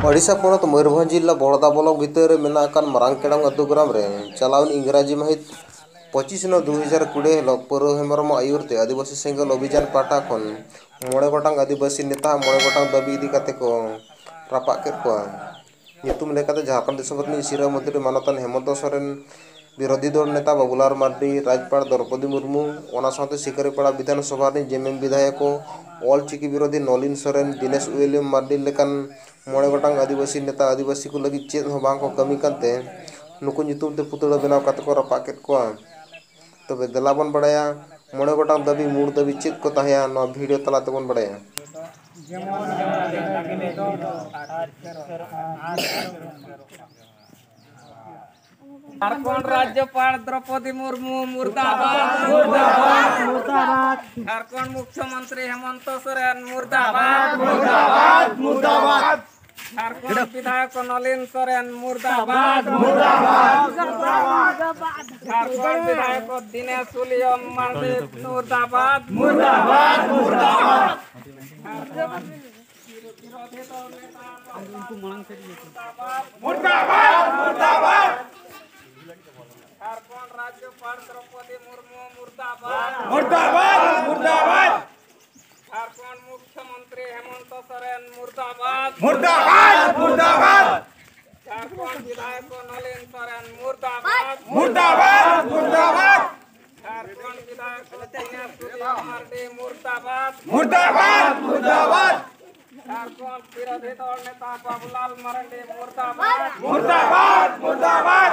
ओडिशा पनत मयूरभंज जिला बहड़दा ब्लॉक भीतर रे मेना अकान मारांग केड़ंग अतु ग्राम रे चलाउन इंग्राजी माहित 25/9/2020 हिलोग पौर हेम्ब्रम आयुरते आदिवासी सेंगल अभियान पाटा खन 5 गोटांग आदिवासी नेता 5 गोटांग दाबी इदी काते को रापाक केद कोआ। नितुम लेकाते झारखंड दिसोम रिनिज सिरा मंत्री मानतान हेमंत सोरेन, विरोधी दल नेता बाबूलाल मार्डी, राज्यपाल द्रौपदी मुर्मू, ओना साथे शिकारीपाड़ा विधानसभा रिनिज जेएमएम विधायक ऑल चिकी विरोधी नलिन सोरेन, दिनेश विलियम मार्डी लेकान 5 गोटांग आदिवासी नेता आदिवासी को लगी चेद हों बांग को कमी कानते नुकु नितुम ते पुतला बनाव काते को रापाक केद कोआ। तबे देला बन बड़ाया 5 गोटांग दाबी मूड़ दाबी चेद को ताहेया नोआ भिडियो तला ते बन बड़ाया। झारखंड राज्यपाल द्रौपदी मुर्मू मुर्दाबाद मुर्दाबाद मुर्दाबाद। झारखंड मुख्यमंत्री हेमंत सोरेन मुर्दाबाद मुर्दाबाद मुर्दाबाद। झारखंड विधायक नलिन सोरेन मुर्दाबाद मुर्दाबाद मुर्दाबाद। झारखंड विधायक दिनेश विलियम मार्डी मुर्दाबाद मुर्दाबाद मुर्दाबाद। विरोधी दल नेता मुर्दाबाद मुर्दाबाद। झारखंड राज्यपाल द्रौपदी मुर्मू मुर्दाबाद मुर्दाबाद मुर्दाबाद। झारखंड मुख्यमंत्री हेमंत सोरेन मुर्दाबाद मुर्दाबाद मुर्दाबाद। झारखंड विधायक नलिन सोरेन मुर्दाबाद मुर्दाबाद मुर्दाबाद। झारखंड विधायक दिनेश विलियम मार्डी मुर्दाबाद मुर्दाबाद मुर्दाबाद। झारखंड विरोधी दल नेता बाबूलाल मरंडी मुर्दाबाद मुर्दाबाद मुर्दाबाद।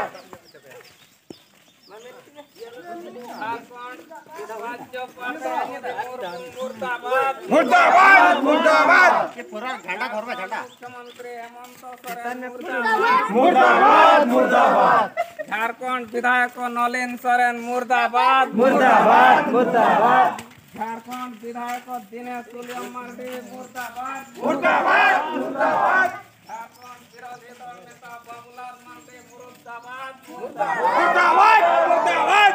मुर्दाबाद मुर्दाबाद मुर्दाबाद। मुख्यमंत्री हेमंत सोरेन मुर्दाबाद मुर्दाबाद। झारखंड विधायक नलिन सोरेन मुर्दाबाद मुर्दाबाद मुर्दाबाद। झारखंड विधायक दिनेश विलियम मार्डी मुर्दाबाद मुर्दाबाद मुर्दाबाद। झारखंड विरोधी दल नेता बाबूलाल मार्डी मुर्दाबाद मुर्दाबाद मुर्दाबाद।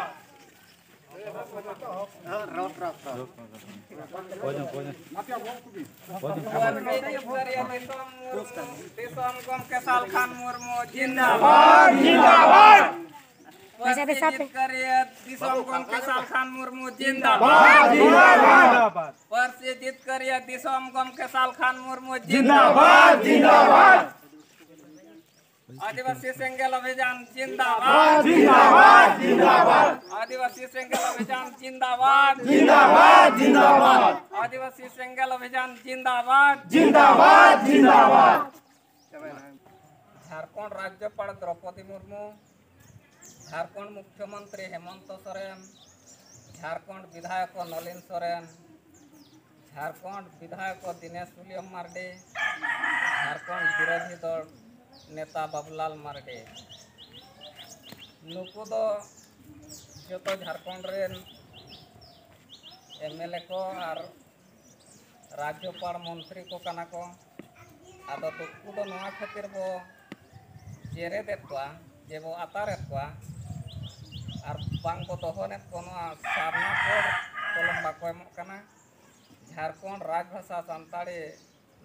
मुर्मू जिंदाबाद जिंदाबाद। मुर्मू जिंदाबाद जिंदाबाद। मुर्मू जिंदाबाद जिंदाबाद। आदिवासी सेंगेल अभियान जिंदाबाद जिंदाबाद जिंदाबाद। आदिवासी सेंगेल अभियान जिंदाबाद जिंदाबाद जिंदाबाद। आदिवासी सेंगेल अभियान जिंदाबाद जिंदाबाद जिंदाबाद। झारखंड राज्यपाल द्रौपदी मुर्मू, झारखंड मुख्यमंत्री हेमंत सोरेन, झारखंड विधायक नलिन सोरेन, झारखंड विधायक दिनेश विलियम मार्डी, झारखंड विरोधी दल नेता बाबूलाल मार्डी, नुकु दो जतो झारखंड रेन एमएलए को और राज्यपाल मंत्री को कना को आदो नुकु दो नोआ खातिर बो जेरेदेद कोआ जे बो आतारेद कोआ और बांग को दहनेद को नोआ सारना कोड कलम बाको एमोग कना। झारखंड राजभाषा सानताड़ी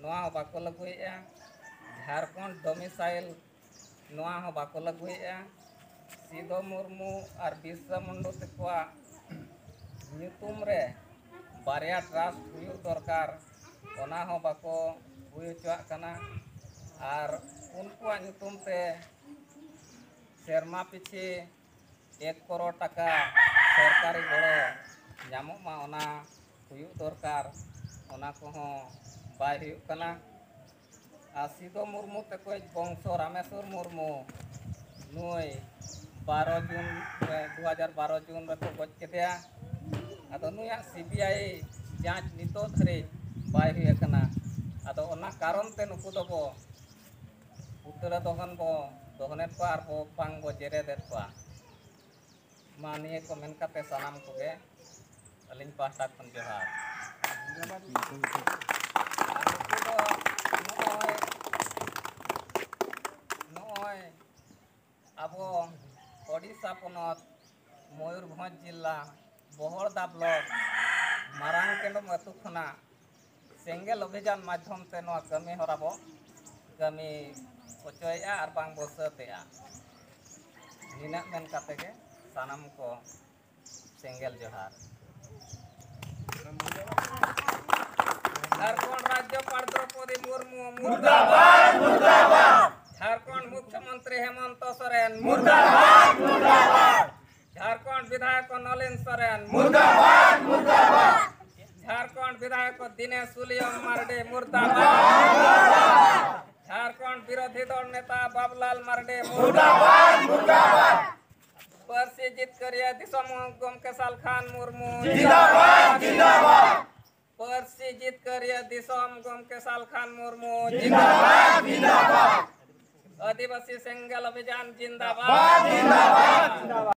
नोआ हो बाको लागुएआ। झारखंड डोमिसाइल नोआ हो बाको लागुएआ। सिदो मुर्मू और बिरसा मुंडू तकवा ᱧᱩᱛᱩᱢ ᱨᱮ बारिया ट्रास्ट हुयुग दरकार ओना हो बाको हुई हचोवाग कना और उनकुआग ᱧᱩᱛᱩᱢ ते सेरमा पिछे 1 करोड़ टाका सरकारी गड़ो ᱧᱟᱢᱚᱜ ᱢᱟ ओना हुयुग दरकार ओना कोहो बाय हुयुग कना। और सिदो मुर्मू तकोज बंशो रामेश्वर मुर्मू नुई 12 जून 2012 जून रेको गज केदेया। आदो नुयाग सीबीआई जांच नितो धरे बाय हुई आकना। आदो ओना कारण ते नुकु दबो पुतला दहन बो दहनेद कोआ are बो बांग बो जेरेदेद कोआ। मा निये को मेन काते सानाम कोगे अलिन पाहटा खन जोहार। नुकु दो नोय आबो ओडिशा पनत मयूरभंज जिला बहड़दा ब्लॉक मारांग केंडम अतु खना सेंगेल अभियान माध्यम ते नोआ कमी हरा बो ᱠᱟᱹᱢᱤ ᱚᱪᱚᱭᱮᱜᱼᱟ ᱟᱨ ᱵᱟᱝ ᱵᱚ ᱥᱟᱹᱛᱮᱜᱼᱟ। ᱱᱤᱱᱟᱹᱜ ᱢᱮᱱ ᱠᱟᱛᱮ ᱜᱮ ᱥᱟᱱᱟᱢ ᱠᱚ ᱥᱮᱸᱜᱮᱞ ᱡᱚᱦᱟᱨ। झारखंड राज्यपाल द्रौपदी मुर्मू मुर्दाबाद मुर्दाबाद। झारखंड मुख्यमंत्री हेमंत सोरेन मुर्दाबाद मुर्दाबाद। झारखंड विधायक नलिन सोरेन मुर्दाबाद मुर्दाबाद। झारखंड विधायक दिनेश विलियम मार्डी मुर्दाबाद। झारखंड विरोधी दल नेता बाबूलाल मार्डी मुर्दाबाद मुर्दाबाद। पर्सी जितकरिया दिसम गोमके सालखान मुर्मू जिंदाबाद जिंदाबाद। पर्सी जितकरिया दिसम गोमके सालखान मुर्मू जिंदाबाद जिंदाबाद। आदिवासी सेंगेल अभियान जिंदाबाद जिंदाबाद।